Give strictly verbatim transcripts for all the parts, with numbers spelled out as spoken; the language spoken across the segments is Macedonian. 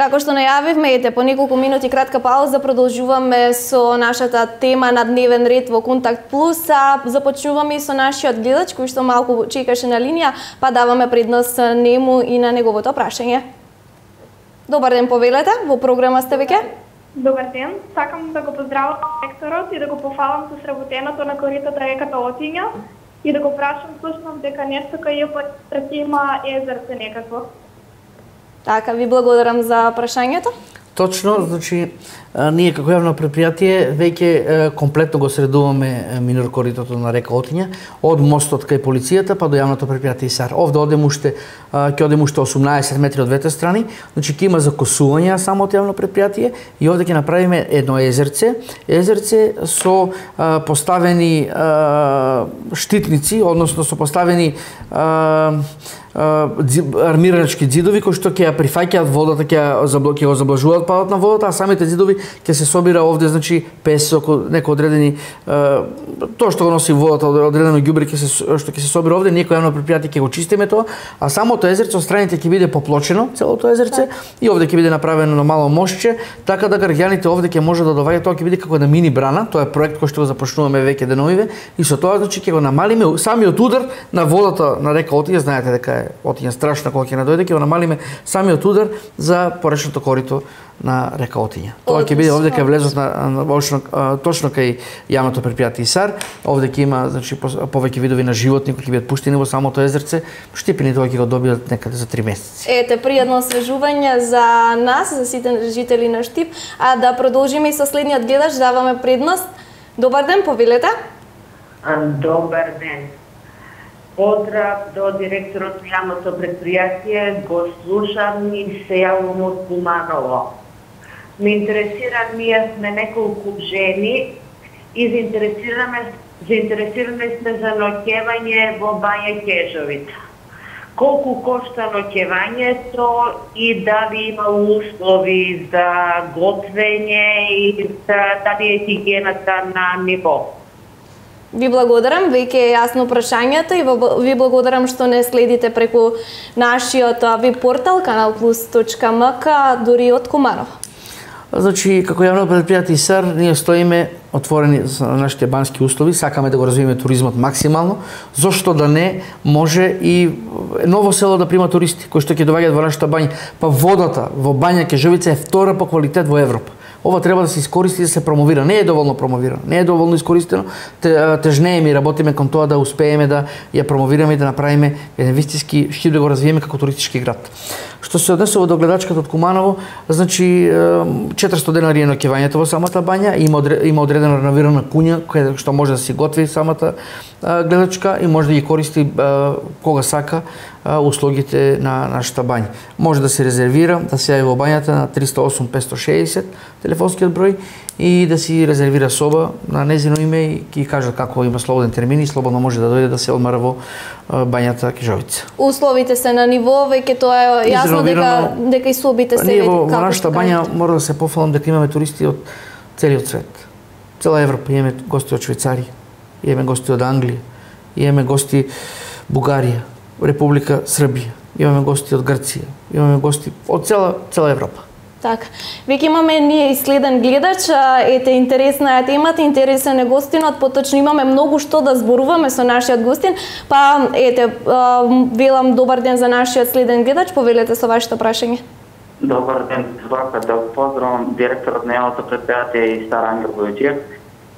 Како што најавивме, ете, по неколку минути кратка пауза, продолжуваме со нашата тема на дневен ред во Контакт Плюс, а започнуваме и со нашиот гледач кој што малку чекаше на линија, па даваме предност нему и на неговото прашање. Добар ден, повелете, во програма сте веќе? Добар ден, сакам да го поздравам директорот и да го пофалам со сработеното на коритото реката Отиња и да го прашам слушнав дека нешто кај ја има езерце некакво. Така, ви благодарам за прашањето. Точно, значи, ние како јавно предпријатие веќе комплетно го средуваме минор коритото на река Отиња, од мостот кај полицијата па до јавното предпријатие ИСАР. Овде одем уште, ќе одем уште осумнаесет метри од двете страни, значи ќе има закосување само од јавно предпријатие и овде ќе направиме едно езерце, езерце со а, поставени а, штитници, односно со поставени а, армираначки ѕидови кои што ќе ја прифаќаат водата, ќе ја ќе го заблажуваат падот на водата, а самите ѕидови ќе се собира овде, значи песок, некои одредени тоа што го носи водата, одредено ѓубре ќе се што ќе се собира овде, некој јавно предпријатие ќе го чистиме тоа, а самото езерце од страните ќе биде поплочено, целото езерце, и овде ќе биде направено на мало мостче, така да граѓаните овде ќе може да доваѓаат, тоа ќе биде како една мини брана, тоа е проект кој што го започнуваме веќе деновиве, и со тоа значи ќе го намалиме самиот удар на водата на река Отиња, знаете дека Отиња страшна кога ќе надојде, ќе го намалиме самиот удар за поречното корито на река Отиња. Тоа ќе биде овде кај влезот на, на точно, точно кај јавното предпријатие ИСАР. Овде ќе има значи повеќе видови на животни кои ќе бидат пуштени во самото езерце. Штипини тоа ќе го добијат некаде за три месеци. Ете, пријатно освежување за нас, за сите жители на Штип, а да продолжиме и со следниот гледач, даваме предност. Добар ден, повелете. Добар ден. Поздрав до директорот на јавното предпријатие, го слушам и се јавувам од Куманово. Ме интересира, ние сме неколку жени и заинтересираме, заинтересираме сме за ноќевање во Бања Ќежовица. Колку кошта ноќевањето и дали има услови за готвење и за дали е хигиената на ниво? Ви благодарам, веќе е јасно прашањето и ви благодарам што не следите преку нашиот веб портал канал плюс точка ем ка, дури од Куманово. Значи, како јавно предпријатие ИСАР, ние стоиме отворени за нашите бански услови, сакаме да го развиеме туризмот максимално, зошто да не може и Ново село да прима туристи кои што ќе доаѓаат во нашата бања, па водата во Бања Ќежовица е втора по квалитет во Европа. Ова треба да се искористи и да се промовира. Не е доволно промовирано, не е доволно искористено. Тежнееме и работиме кон тоа да успееме да ја промовираме и да направиме еден вистински Штип да го развиеме како туристички град. Што се однесува до гледачката од Куманово, значи четиристотини денари е ноќевањето во самата бања, има има одредена реновирана куња која што може да се готви самата гледачка и може да ги користи кога сака услугите на нашата бања. Може да се резервира, да се јави во бањата на триста и осум петстотини и шеесет телефонскиот број и да си резервира соба на незино име и ќе кажа како има слободен термин и слободно може да дојде да се одмара во бањата Ќежовица. Условите се на ниво, веќе тоа е јасно дека дека и собите се ние во, во нашата бања мора да се пофалам дека имаме туристи од целиот свет. Цела Европа, имаме гости од Швајцарија, имаме гости од Англија, имаме гости Бугарија, Република Србија, имаме гости од Грција, имаме гости од цела цела Европа. Така. Веќе имаме ние и следен гледач, ете интересна е темата, интересен е гостинот, поточно имаме многу што да зборуваме со нашиот гостин, па ете велам добар ден за нашиот следен гледач, повелете со вашето прашање. Добар ден, сакам да поздравам директорот на јавното предпријатие ИСАР Ангел Бојчиев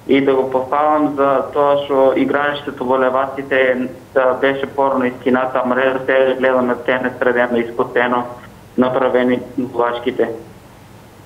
и да го пофалам за тоа што игралиштето во Леваците беше порано искината мрежа, сега гледаме тенес средено искотено направени влачките.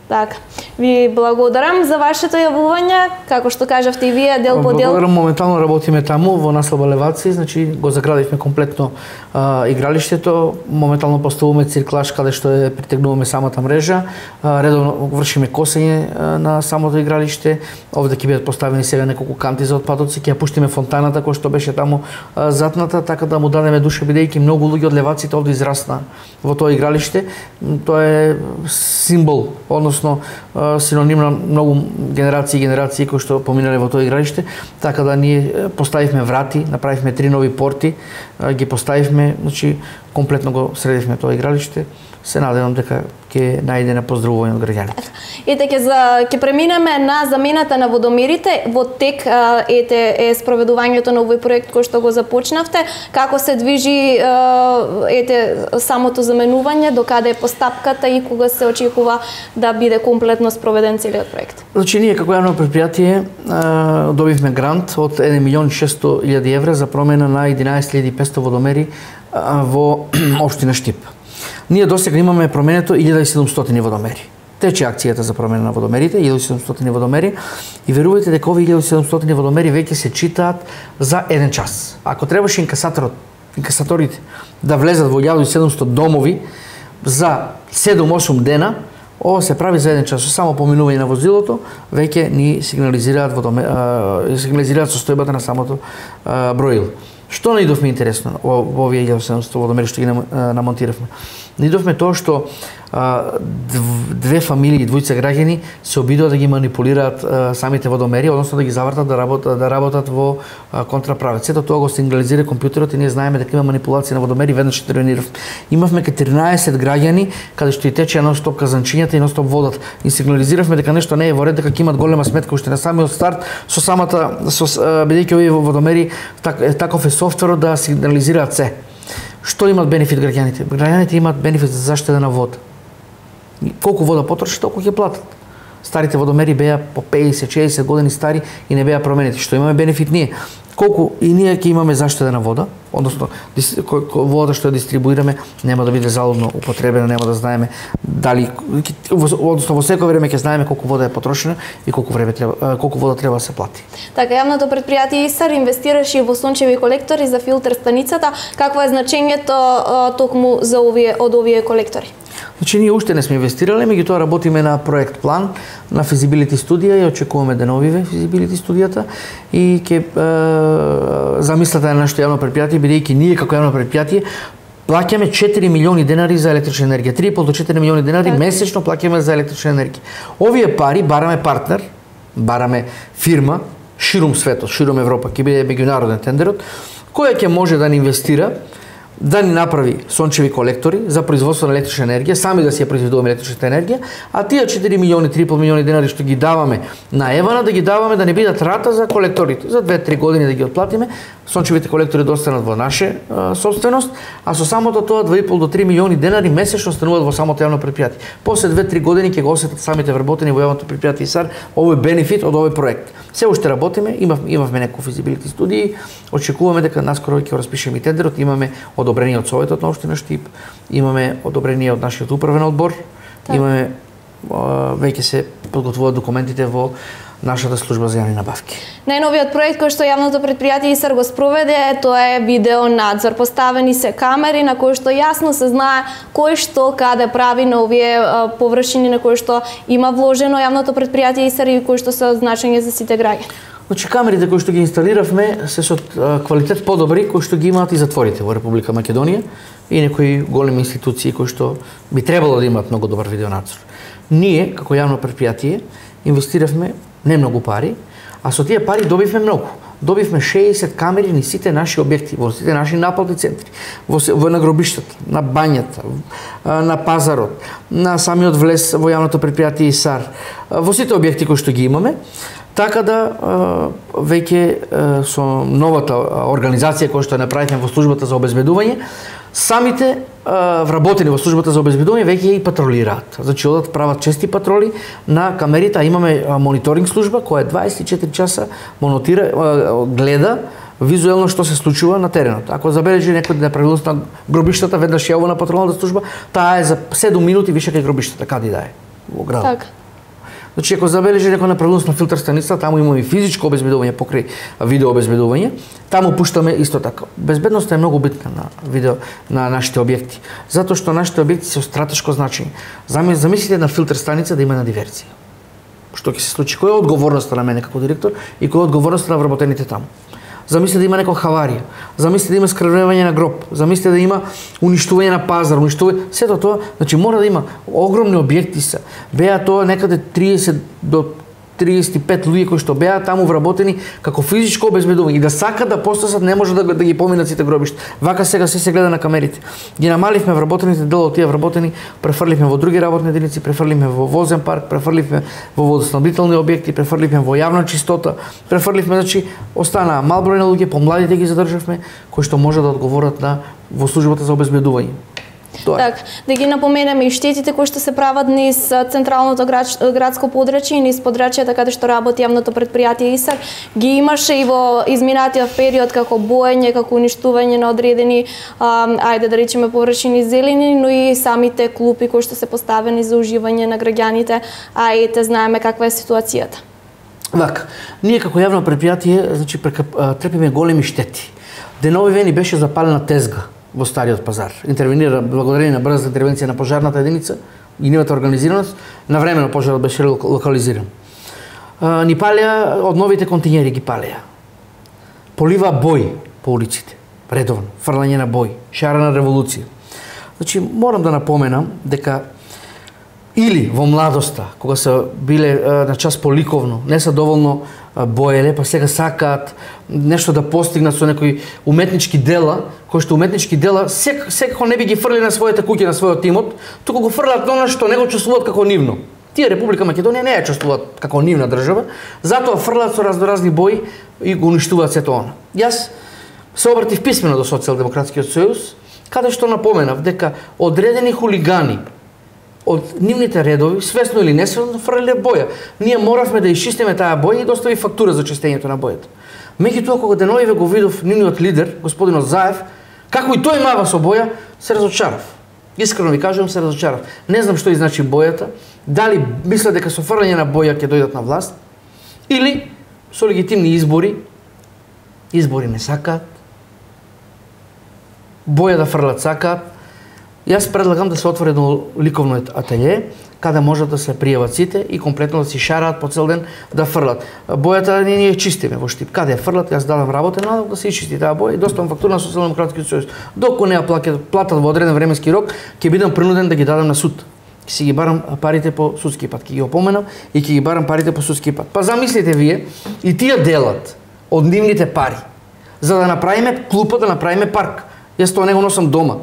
Така. Ви благодарам за вашето јавување, како што кажавте и вие, дел по дел. Благодарам, моментално работиме таму во наслаба Леваци, значи го заградивме комплетно а, игралиштето, моментално поставуваме цирклаш каде што е притегнуваме самата мрежа, а, редовно вршиме косење а, на самото игралиште. Овде ќе бидат поставени сега неколку канти за отпадоци, ќе ја пуштиме фонтаната која што беше таму а, затната, така да му дадеме душа бидејќи многу луѓе од Леваците овде израсна во тоа игралиште. Тоа е символ, односно синоним на многу генерации и генерации кои што поминале во тоа игралиште, така да ние поставивме врати, направивме три нови порти, ги поставивме, значи комплетно го средивме тоа игралиште. Се надевам дека ќе најде на поздравување од граѓаните. Ете, ќе за ќе преминеме на замената на водомерите. Во тек ете е спроведувањето на овој проект кој што го започнавте. Како се движи ете самото заменување, докаде е постапката и кога се очекува да биде комплетно спроведен целиот проект? Значи ние како јавно предпријатие добивме грант од еден милион и шесто илјади евра за промена на единаесет илјади и петсто водомери во општина Штип. Ние досега имаме променето илјада и седумстотини водомери. Тече акцијата за промена на водомерите, илјада и седумстотини водомери, и верувајте дека овие илјада и седумстотини водомери веќе се читаат за еден час. Ако требаше инкасаторот, инкасаторите да влезат во илјада и седумстотини домови за седум-осум дена, ово се прави за еден час. Само поминување на возилото веќе ни сигнализираат водоме, сигнализираат состојбата на самото а, броило. Што наидовме интересно во овие илјада и седумстотини водомери што ги намонтиравме? Наидовме тоа што а, две фамилии, двојца граѓани се обидува да ги манипулираат а, самите водомери, односно да ги завртат да работат, да работат во а, контраправец. Сето тоа го сигнализира компјутерот и ние знаеме дека има манипулација на водомери, веднаш интервениравме. Имавме четиринаесет граѓани каде што и тече нон-стоп казанчињата и нон-стоп водат. И сигнализиравме дека нешто не е во ред, дека ќе имат голема сметка уште на самиот старт со самата со бидејќи овие водомери так, таков е софтверот да сигнализираат се. Што имат бенефит граѓаните? Граѓаните имат бенефит за заштеда на вода. Колку вода потроши, толку ќе платат. Старите водомери беа по пеесет шеесет години стари и не беа променети. Што имаме бенефит ние? Колку и ние ќе имаме заштеда на вода, односно водата што ја дистрибуираме нема да биде залудно употребена, нема да знаеме дали, односно во секој време ќе знаеме колку вода е потрошена и колку време треба, колку вода треба да се плати. Така, јавното предпријатие ИСАР инвестираше во сончеви колектори за филтер станицата. Какво е значењето токму за овие од овие колектори? Значи ние уште не сме инвестирале, меѓутоа работиме на проект план, на физибилити студија и очекуваме да новиве физибилити студијата и ќе е, замислата на нашето јавно предпријатие, бидејќи ние како јавно предпријатие плаќаме четири милиони денари за електрична енергија, три и пол до четири милиони денари месечно плаќаме за електрична енергија. Овие пари бараме партнер, бараме фирма ширум светот, ширум Европа, ќе биде меѓународен тендерот, која ќе може да ни инвестира, да ни направи сончеви колектори за производство на електрична енергија, сами да си ја произведуваме електричната енергија, а тие четири милиони, три и пол милиони денари што ги даваме на Евана, да ги даваме да не бидат рата за колекторите. За две-три години да ги отплатиме, сончевите колектори да останат во наше а, собственост, а со самото тоа два и пол до три милиони денари месечно остануваат во самото јавно предпријатие. После две-три години ќе го осетат самите вработени во јавното предпријатие ИСАР овој бенефит од овој проект. Се уште работиме, имав, имавме некои физибилити студии, очекуваме дека наскоро ќе распишеме и тендерот, имаме одобрение од Советот на општина Штип, имаме одобрение од нашиот управен одбор, так. имаме веќе се подготвуваат документите во нашата служба за јавни набавки. Најновиот проект кој што јавното предпријатие ИСАР го спроведе, тоа е видео надзор. Поставени се камери на кои што јасно се знае кој што каде прави на овие површини на кои што има вложено јавното предпријатие ИСАР и кои што се од значење за сите граѓани. Значи камерите кои што ги инсталиравме се со квалитет подобри кои што ги имаат и затворите во Република Македонија и некои големи институции кои што би требало да имаат многу добар видеонадзор. Ние како јавно предпријатие инвестиравме не многу пари, а со тие пари добивме многу. Добивме шеесет камери на сите наши објекти, во сите наши наплатни центри, во, во на гробиштата, на бањата, на пазарот, на самиот влез во јавното предпријатие ИСАР, во сите објекти кои што ги имаме, така да веќе со новата организација која што ја направивме во службата за обезбедување, самите вработени во службата за обезбедување веќе и патролираат. Значи одат прават чести патроли на камерите, а имаме мониторинг служба која дваесет и четири часа монотира, гледа визуелно што се случува на теренот. Ако забележи некој неправилност на гробиштата, веднаш јавува на патролната служба, таа е за седум минути више кај гробиштата, каде да е во градот. Так. Значи, ако забележи некоја неправилност на филтер станица, таму имаме и физичко обезбедување покрај видео обезбедување, таму пуштаме исто така. Безбедноста е многу битна на видео на нашите објекти, затоа што нашите објекти се од стратешко значење. Замислите на филтер станица да има на диверзија. Што ќе се случи? Која е одговорноста на мене како директор и која е одговорноста на вработените таму? Замислите да има некоја хаварија, замислите да има скрвнување на гроб, замислите да има уништување на пазар, уништување, сето тоа, значи мора да има огромни објекти се. Беа тоа некаде триесет до триесет и пет луѓе кои што беа таму вработени како физичко обезбедување и да сакат да постасат не може да, да ги поминат сите гробишта. Вака сега се се гледа на камерите. Ги намаливме вработените, дел од тие вработени префрлихме во други работни единици, префрлихме во возен парк, префрлихме во водоснабдителни објекти, префрлихме во јавна чистота, префрлихме, значи останаа мал број на луѓе, помладите ги задржавме кои што може да одговорат на во службата за обезбедување. Так, да ги напоменеме и штетите кои што се прават низ централното градско подрачје и низ подрачјата каде што работи јавното предпријатие ИСАР, ги имаше и во изминатиот период како боење, како уништување на одредени, а, ајде да речеме површини зелени, но и самите клупи кои што се поставени за уживање на граѓаните, а и те знаеме каква е ситуацијата. Вака, ние како јавно предпријатие, значи трпиме големи штети. Денови ни беше запалена тезга во Стариот пазар. Интервенира благодарение на брза интервенција на пожарната единица и нивната организираност, навремено пожарот беше локализиран. Ни палеа од новите континери ги палеа. Полива бој по улиците, редовно, фрлање на бој, шарена револуција. Значи морам да напоменам дека или во младоста, кога се биле на час поликовно, не се доволно боеле, па сега сакаат нешто да постигнат со некои уметнички дела, кои што уметнички дела сек, секако не би ги фрли на своите куќи, на својот имот, туку го фрлат на она што не го чувствуваат како нивно. Тие Република Македонија не ја чувствуваат како нивна држава, затоа фрлат со разноразни бои и го уништуваат сето она. Јас се обратив писмено до Социјалдемократскиот сојуз, каде што напоменав дека одредени хулигани од нивните редови, свесно или несвесно, фрлеле боја. Ние моравме да исчистиме таа боја и достави фактура за чистењето на бојата. Меѓутоа, кога деновиве го видов нивниот лидер, господинот Заев, како и тој мава со боја, се разочарав. Искрено ви кажувам, се разочарав. Не знам што значи бојата, дали мислат дека со фрлање на боја ќе дојдат на власт, или со легитимни избори, избори не сакаат, боја да фрлат сакаат. Јас предлагам да се отвори едно ликовно ателје, каде можат да се пријават сите и комплетно да си шараат по цел ден да фрлат. Бојата ние ние чистиме во Штип. Каде ја фрлат, јас дадам работа на да се ичисти таа боја и доставам фактура на Социјалдемократскиот сојуз. Доколку не ја платат во одреден временски рок, ќе бидам принуден да ги дадам на суд. Ќе си ги барам парите по судски пат, ќе ги опоменам и ќе ги барам парите по судски пат. Па замислите вие, и тие делат од нивните пари за да направиме клупа, да направиме парк. Јас тоа не го носам дома.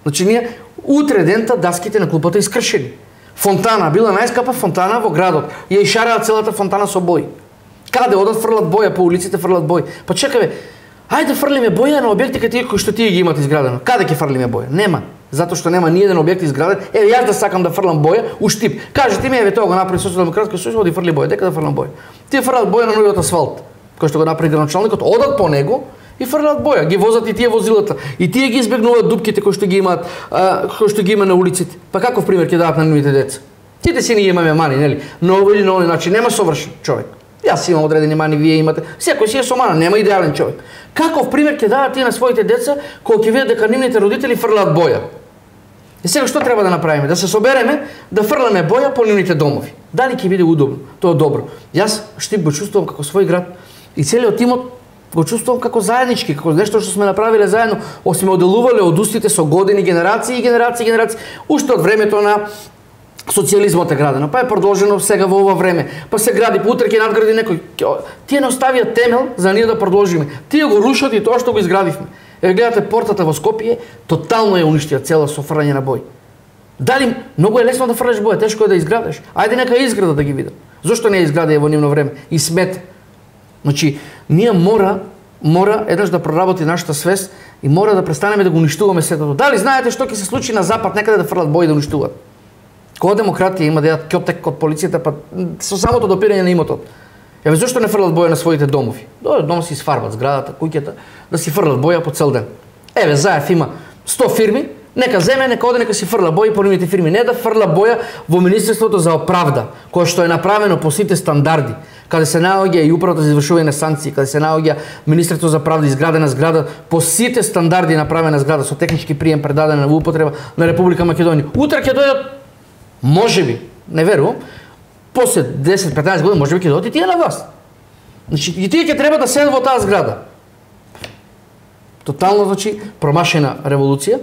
Значи ние утре дента даските на клупата искршени. Фонтана била најскапа фонтана во градот. Ја ишараат целата фонтана со бој. Каде одат фрлат боја по улиците, фрлат бој. Па чекаве, ајде фрлиме боја на објекти кои што тие ги имат изградено. Каде ќе фрлиме боја? Нема. Затоа што нема ни еден објект изграден. Еве јас да сакам да фрлам боја у Штип. Кажете ми, еве тоа го направи Социјалдемократскиот сојуз, оди фрли боја. Дека да фрлам боја? Тие фрлат боја на новиот асфалт, кој што го направи градоначалникот, одат по него и фрлат боја, ги возат и тие возилата. И тие ги избегнуваат дупките кои што ги имаат, а, кои што ги има на улиците. Па каков пример ќе дадат на нивните деца? Тите си ние имаме мани, нели? Но овој или на овој начин нема совршен човек. Јас имам одредени мани, вие имате. Секој си е со мана, нема идеален човек. Каков пример ќе дадат тие на своите деца кога ќе видат дека нивните родители фрлаат боја? И сега што треба да направиме? Да се собереме, да фрламе боја по нивните домови. Дали ќе биде удобно? Тоа е добро. Јас Штип го чувствувам како свој град и целиот тимот го чувствувам како заеднички, како нешто што сме направиле заедно, сме оделувале од устите со години, генерации и генерации и генерации, уште од времето на социјализмот е градено, па е продолжено сега во ова време, па се гради, па утре ќе надгради некој. Тие не оставија темел за ние да продолжиме. Тие го рушат и тоа што го изградивме. Еве гледате портата во Скопје, тотално ја уништија цела со фрлање на бој. Дали многу е лесно да фрлаш боја, тешко е да изградиш. Ајде нека изграда да ги видам. Зошто не изгради во нивно време и смет? Значи, ние мора, мора еднаш да проработи нашата свест и мора да престанеме да го уништуваме сето. Дали знаете што ќе се случи на запад некаде да фрлат бои да уништуваат? Кога демократија има да јадат ќотек од полицијата, па со самото допирање на имотот. Еве зошто не фрлат боја на своите домови? Дојдат дома си сфарбат зградата, куќата, да си фрлат боја по цел ден. Еве Заев има сто фирми, нека земе, нека оде, нека си фрла боја по нивните фирми, не да фрла боја во Министерството за оправда, кое што е направено по сите стандарди, каде се наоѓа и управата за извршување на санкции, каде се наоѓа Министерството за правда, изградена зграда по сите стандарди направена зграда со технички прием предадена во употреба на Република Македонија. Утре ќе дојдат, можеби, не верувам, после десет петнаесет години можеби ќе дојдат и тие на власт. Значи и тие ќе треба да седат во таа зграда. Тотално, значи, промашена револуција,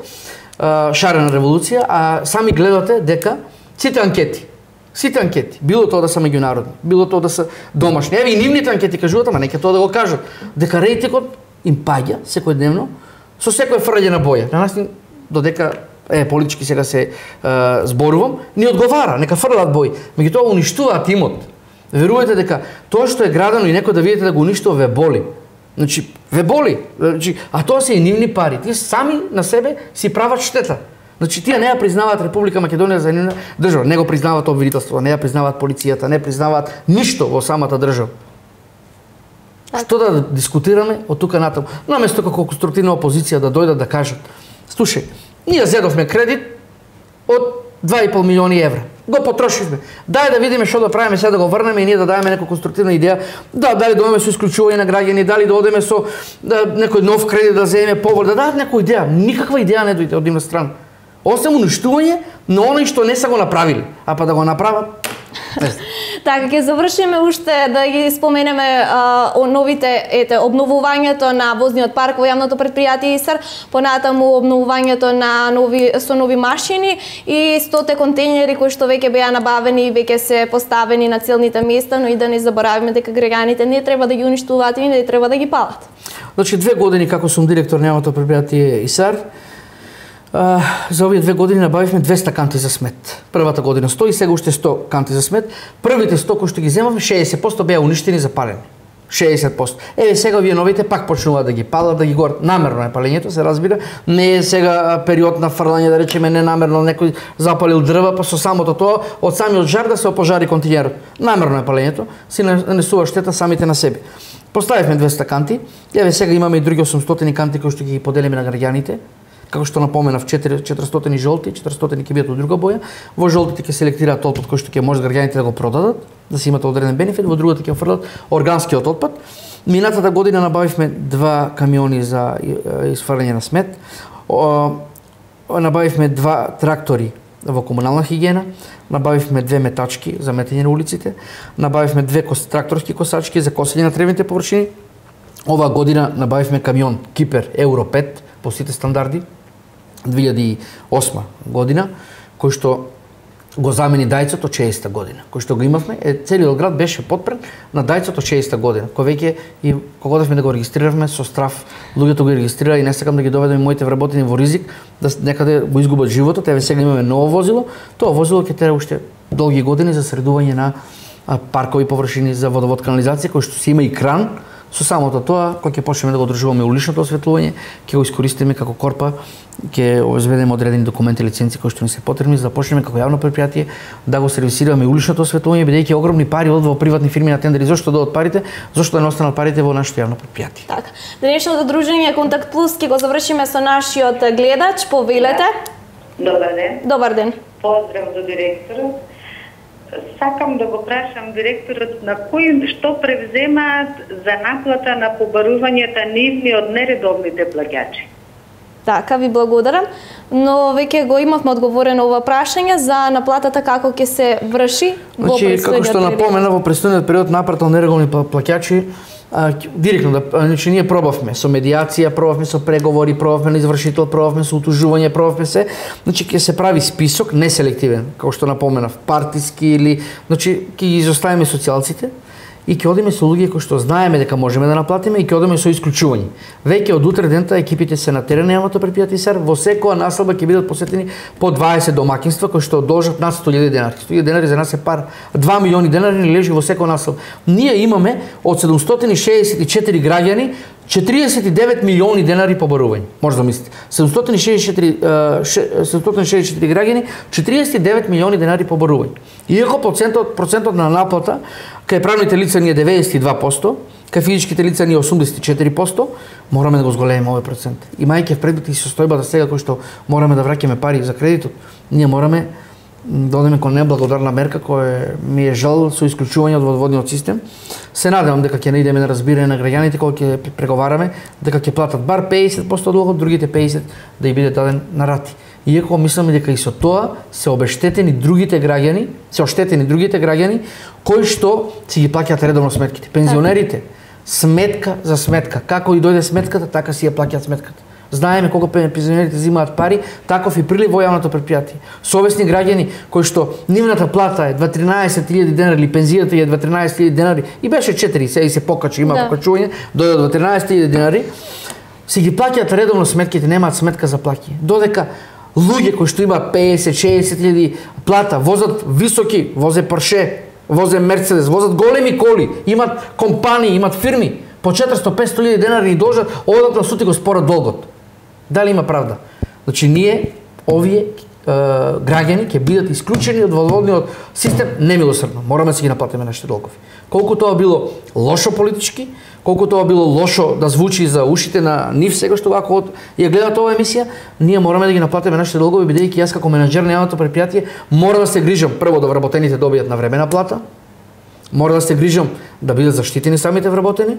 шарена револуција, а сами гледате дека сите анкети, Сите анкети, било тоа да се меѓународни, било тоа да се домашни. Еве и нивните анкети кажуваат, ама нека тоа да го кажат, дека рейтингот им паѓа секојдневно со секој фрлање на боја. На нас додека е политички сега се е, зборувам, ни одговара, нека фрлаат бои. Меѓутоа уништуваат имот. Верувате дека тоа што е градено и некој да видите да го уништува ве боли. Значи, ве боли. Значи, а тоа се и нивни пари. Тие сами на себе си прават штета. Значи, тие не ја признаваат Република Македонија за нивна држава, не го признаваат обвинителство, не ја признаваат полицијата, не признаваат ништо во самата држава. Што да дискутираме од тука натаму? Наместо како конструктивна опозиција да дојдат да кажат: слушај, ние зедовме кредит од два и пол милиони евра. Го потрошивме. Дај да видиме што да правиме сега да го врнеме и ние да дадеме некоја конструктивна идеја. Да, дали да одиме со исклучување на граѓани, дали да одиме со да, некој нов кредит да земеме повод, да дадат некоја идеја. Никаква идеја не дојде од нивна страна. Осем уништување на оној што не са го направили, а па да го направат. Така, ќе завршиме уште да ги споменеме а, о новите, ете, обновувањето на возниот парк во јавното предпријатие ИСАР, понатаму обновувањето на нови со нови машини и стоте контејнери кои што веќе беа набавени и веќе се поставени на целните места, но и да не заборавиме дека граѓаните не треба да ги уништуваат и не треба да ги палат. Значи две години како сум директор на јавното предпријатие ИСАР, Uh, за овие две години набавивме двеста канти за смет. Првата година сто и сега уште сто канти за смет. Првите сто кои што ги земавме, шеесет проценти беа уништени за палење. шеесет проценти. Еве сега овие новите пак почнуваат да ги палат, да ги горат. Намерно е палењето, се разбира. Не е сега период на фрлање, да речеме ненамерно некој запалил дрва, па со самото тоа од самиот жар да се опожари континерот. Намерно е палењето, си нанесува штета самите на себе. Поставивме двеста канти. Еве сега имаме и други осумстотини канти кои што ги поделиме на граѓаните. Како што напоменав, четиристотини жолти, четиристотини ќе бидат од друга боја. Во жолтите ќе селектираат отпад кој што ќе може граѓаните да го продадат, да се имат одреден бенефит, во другата ќе фрлат органскиот отпад. Минатата година набавивме два камиони за изфрлање на смет. Набавивме два трактори во комунална хигиена, набавивме две метачки за метење на улиците, набавивме две тракторски косачки за косење на тревните површини. Оваа година набавивме камион Кипер Евро пет по сите стандарди, две илјади и осма година, кој што го замени дајцот од шеесетта година. Кој што го имавме, е, целиот град беше потпрен на дајцот од шеесетта година, кој веќе и кога одевме да го регистриравме со страв, луѓето го регистрира и не сакам да ги доведам моите вработени во ризик, да некаде го изгубат животот. Еве сега имаме ново возило, тоа возило ќе тера уште долги години за средување на паркови површини за водовод канализација, кој што си има и кран. Со самото тоа, кога ќе почнеме да го одржуваме уличното осветлување, ќе го искористиме како корпа, ќе обезбедиме одредени документи и лиценци кои што ни се потребни за да почнеме како јавно предпријатие да го сервисираме уличното осветлување, бидејќи огромни пари одат во приватни фирми на тендери. Зошто да одат парите? Зошто да не останат парите во нашето јавно предпријатие? Така. Денешното дружење Контакт Плюс ќе го завршиме со нашиот гледач. Повелете. Добар ден. Добар ден. Поздрав до директорот. Сакам да го прашам директорот на кој што превземаат за наплата на побарувањата нивни од нередовните плаќачи. Така, ви благодарам. Но веќе го имавме одговорено ова прашање за наплатата како ќе се врши во значи, престојниот како што напомена, во престојниот период наплата од нередовни плаќачи, а, директно да, значи ние пробавме со медијација, пробавме со преговори, пробавме на извршител, пробавме со утужување, пробавме се, значи ќе се прави список неселективен, како што напоменав, партиски или, значи ќе ги изоставиме социјалците и ќе одиме со луѓе кои што знаеме дека можеме да наплатиме и ќе одиме со исклучување. Веќе од утре дента екипите се на терен на јавното предпријатие ИСАР, во секоја населба ќе бидат посетени по дваесет домаќинства кои што должат над сто илјади денари. сто илјади денари за нас е пар, два милиони денари не лежи во секоја населба. Ние имаме од седумстотини шеесет и четири граѓани четириесет и девет милиони денари побарување. Може да мислите. седумстотини шеесет и четири граѓани, четириесет и девет милиони денари побарување. Иако процентот, процентот на наплата кај правните лица ни е деветдесет и два проценти, кај физичките лица ни е осумдесет и четири проценти, мораме да го зголемиме овој процент. Имајќи предвид и состојбата сега кој што мораме да враќаме пари за кредитот, ние мораме да одиме кон неблагодарна мерка која ми е жал со исклучување од водоводниот систем. Се надевам дека ќе наидеме на разбирање на граѓаните кога ќе преговараме, дека ќе платат бар пеесет проценти од дugот, другите пеесет проценти да ја биде даден на рати. Иако мислам дека и со тоа се обештетени другите граѓани, се оштетени другите граѓани кои што си ги плаќаат редовно сметките. Пензионерите, сметка за сметка. Како и дојде сметката, така си ја плаќаат сметката. Знаеме колку пензионерите земаат пари, таков и прилив во јавното предпријатие. Совесни граѓани кои што нивната плата е дваесет илјади денари или пензијата е дваесет илјади денари и беше четири, сега и се покачи, има да. покачување, дојде до тринаесет илјади денари, си ги плаќаат редовно сметките, немаат сметка за плаќи. Додека луѓе кои што имаат песет шеесет илјади плата, возат високи, возе Порше, возе Мерцедес, возат големи коли, имат компании, имат фирми, по четиристотини петстотини илјади денари и должат, одат на суд и го спорат долгот. Дали има правда? Значи ние, овие е, граѓани ќе бидат исклучени од водниот систем немилосрдно. Мораме да си ги наплатиме нашите долгови. Колку тоа било лошо политички, колку тоа било лошо да звучи за ушите на нив сега што вако од ја гледат оваа емисија, ние мораме да ги наплатиме нашите долгови, бидејќи јас како менаџер на јавното предпријатие мора да се грижам прво да вработените добијат навремена плата, мора да се грижам да бидат заштитени самите вработени,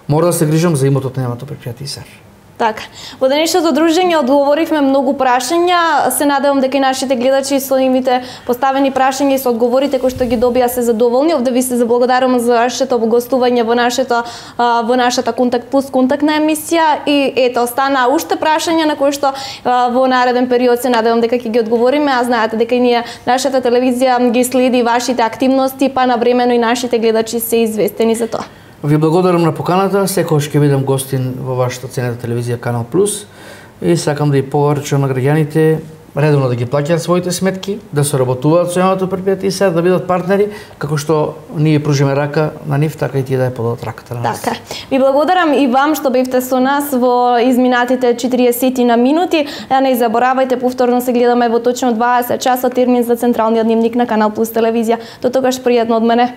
мора да се грижам за имотот на јавното предпријатие САР. Така. Во денешното дружење одговоривме многу прашања. Се надевам дека и нашите гледачи со нивните поставени прашања и со одговорите кои што ги добија се задоволни. Овде ви се заблагодарувам за вашето гостување во нашето во нашата Контакт Плюс контактна емисија и ето остана уште прашања на кои што во нареден период се надевам дека ќе ги одговориме, а знаете дека и ние нашата телевизија ги следи вашите активности, па навремено и нашите гледачи се известени за тоа. Ви благодарам на поканата, секогаш ќе бидам гостин во вашата ценета телевизија Канал Плюс и сакам да и поврачам на граѓаните редовно да ги плаќаат своите сметки, да соработуваат со јавното предпријатие и сега да бидат партнери, како што ние пружиме рака на нив, така и тие да ја подадат раката на нас. Така. Ви благодарам и вам што бевте со нас во изминатите четириесет на минути. А не заборавајте, повторно се гледаме во точно дваесет часа термин за централниот дневник на Канал Плюс телевизија. До тогаш пријатно од мене.